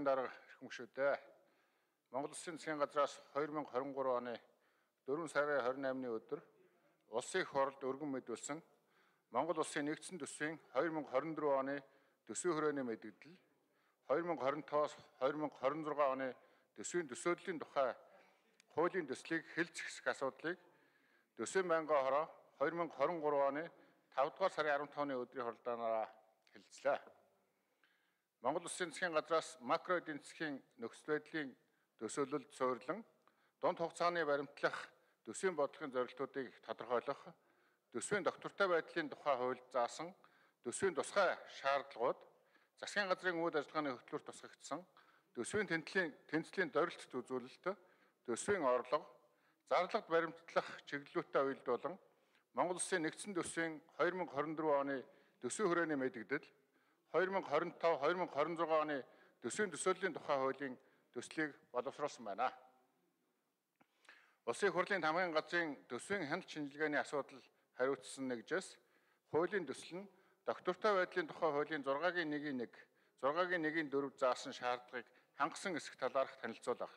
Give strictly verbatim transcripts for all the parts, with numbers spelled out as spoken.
Дарга эрхэм гишүүдээ Монгол Улсын засгийн газраас хоёр мянга хорин гурав оны дөрвөн сарын хорин наймны өдөр улсын их хурлд өргөн мэдүүлсэн Монгол Улсын нэгдсэн төсвийн хоёр мянга хорин дөрөв оны төсвийн хүрээний мэдэгдэл, хоёр мянга хорин таваас хоёр мянга хорин зургаан оны төсвийн төсөөллийн тухай хуулийн төслийг хэлж зэхсэх асуудлыг төсвийн байнгын хороо хоёр мянга хорин гурав оны тавдугаар сарын арван тавны өдрийн хурлаанаараа хэлэлцлээ. Монгол Улсын засгийн газраас макро эдийн засгийн нөхцөл байдлын төсөөлөлд суурилан дунд хугацааны баримтлах төсвийн бодлогын зорилтуудыг тодорхойлох, төсвийн доктортой байдлын тухай хуульд заасан төсвийн тусгай шаардлагууд, засгийн газрын үйл ажиллагааны хөтөлбөрт тусгагдсан төсвийн тэнцлийн тэнцлийн дөрөлтөд үзүүлэлт, төсвийн орлого, зарлагт баримтлах чиглэлүүтээ уялдуулан Монгол Улсын нэгдсэн төсвийн хоёр мянга хорин дөрөв оны төсвийн хүрээний мэдэгдэл, хоёр мянга хорин тав хоёр мянга хорин зургаан оны төсвийн төсөөллийн тухай хуулийн төслийг боловсруулсан байна. Улсын их хурлын хамгийн газрын төсвийн хяналт шинжилгээний асуудал хариуцсан нэгжээс хуулийн төсөл нь доктортой байдлын тухай хуулийн зургагийн нэгний нэг, зургагийн нэгний дөрөв заасан шаардлагыг хангасан эсэх талаарх танилцуулах.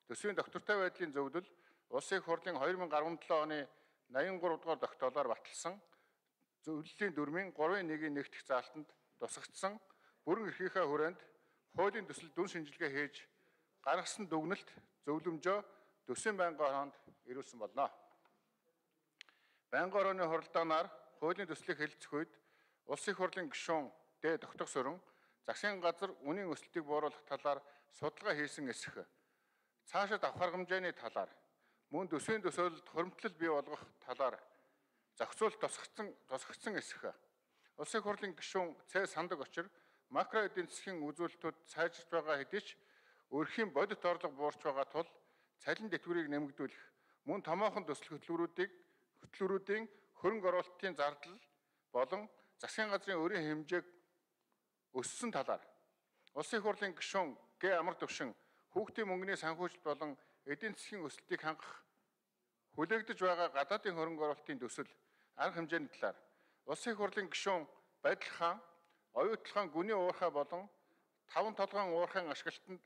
Төсвийн доктортой байдлын зөвлөл Улсын их хурлын хоёр мянга арван долоо оны найман гурав дугаар тогтоолоор баталсан зөвлөлийн дөрмийн гурвын нэгний нэг дэх заалтанд тусгагдсан бүрэн эрхийнхээ хүрээнд хуулийн төсөл дүн шинжилгээ хийж гаргасан дүгнэлт зөвлөмжөө төсвийн байнгын хороонд ирүүлсэн болно. Байнгын хорооны хуралдаанаар хуулийн төслийг хэлэлцэх үед Улсын их хурлын гишүүн Д. Тогтох Сүрэн засгийн газар үнийн өсөлтийг бууруулах талаар судалгаа хийсэн эсэх, цаашид авах хэмжээний талаар, мөн төсвийн төсөөлөлд хуримтлал бий болгох талаар зохицуулт тусгагдсан тусгагдсан эсэх. Улсын их хурлын гишүүн Ц. Сандаг Очир макро эдийн засгийн үзүүлэлтүүд сайжирч байгаа хэдий ч өрхийн бодит орлого буурч байгаа тул цалин тэтгэврийг нэмэгдүүлэх, мөн томоохон төсөл хөтөлбөрүүдийг хөтөлбөрүүдийн хөрөнгө оруулалтын зардал болон засгийн газрын өрийн хэмжээг өссөн талаар Улсын их хурлын гишүүн Г. Амар Төвшин хүүхдийн мөнгөний санхүүжилт болон эдийн засгийн өсөлтийг хангах хүлээгдэж байгаа гадаадын хөрөнгө оруулалтын төсөл арга хэмжээний талаар Улсын их хурлын гишүүн Байдал хаан оюутлахаан гүний уурхай болон таван толгойн уурхайн ашиглалтанд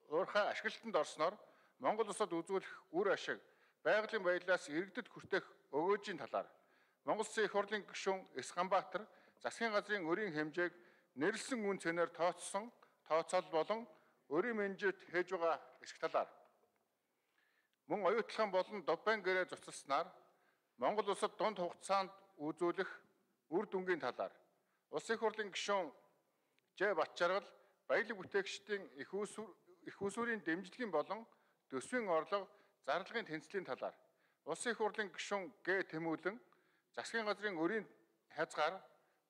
уурхай ашиглалтанд орсноор Монгол улсад үзүүлэх үр ашиг байгалийн баялаас иргэдэд хүртэх өгөөжийн талаар Монгол Улсын их хурлын гишүүн С. Ганбаатар засгийн газрын өрийн хэмжээг нэрлсэн үн цэнээр тооцсон тооцоол болон өрийн менежмент хийж байгаа эсэх талаар мөн оюутлахаан болон Дубайн гэрээ цуцалснаар Монгол улсад дунд хугацаанд үзүүлэх үр дүнгийн талаар Улсын их хурлын гишүүн Ж. Батчаргал баялаг бүтээгчдийн их усүр их усүрийн дэмжлэгийн болон төсвийн орлого, зарлагын тэнцлийн талаар Улсын их хурлын гишүүн Г. Тэмүүлэн засгийн газрын өрийн хязгаар,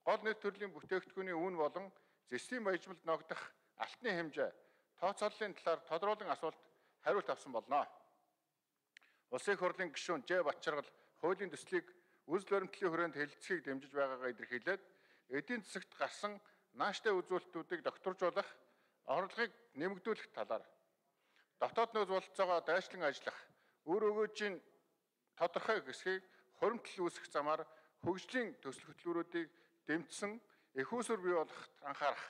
гол нийт төрлийн бүтээгдэхүүний үн болон зэсийн баяжмалд ногдох алтны хэмжээ тооцооллын талаар тодруулан асуулт хариулт авсан болно. Улсын их хурлын гишүүн Ж. Батчаргал хуулийн төслийг үзэл баримтлалын хүрээнд хэлэлцэхийг дэмжиж байгаагаа илэрхийлээд эдийн засагт гарсан нааштай үзүүлэлтүүдийг докторжуулах, орлогыг нэмэгдүүлэх талаар дотоод нөөц бололцоогоо дайчлан ажиллах, үр өгөөжийн тодорхой хэсгийг хуримтлал үүсгэх замаар хөгжлийн төсөл хөтөлбөрүүдийг дэмжсэн их усүр бий болгоход анхаарах,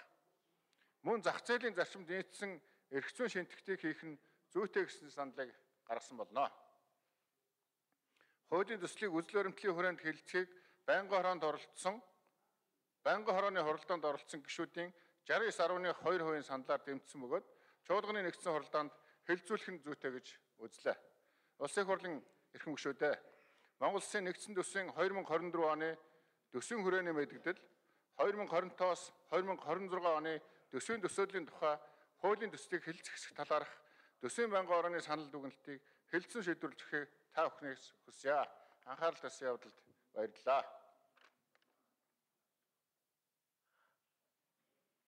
мөн зах зээлийн зарчимд нийцсэн эрх зүйн шинтгэхтийг хийх нь зүйтэй гэсэн саналыг гаргасан болно. Хуулийн төслийг үзэл баримтлалын хүрээнд хэлэлцэхийг байнгын хороонд оролцсон байнгын хорооны хуралдаанд оролцсон гишүүдийн шестьдесят девять дасмал хоёр хувийн саналаар дэмжсэн бөгөөд чуулганы нэгдсэн хуралдаанд хэлэлцүүлэх нь зүйтэй гэж үзлээ. Улсын их хурлын эрхэм гишүүдээ Монгол Улсын нэгдсэн төсвийн хоёр мянга хорин дөрөв оны төсвийн хүрээний мэдэгдэл, хоёр мянга хорин таваас хоёр мянга хорин зургаан оны төсвийн төсөөллийн тухай хуулийн төслийг хэлэлцэх талаарх төсвийн байнгын хорооны санал дүгнэлтийг хэлэлцэн шийдвэрлэхийг та бүхнээс хүсье. Анхаарал татсан явдалд баярлалаа.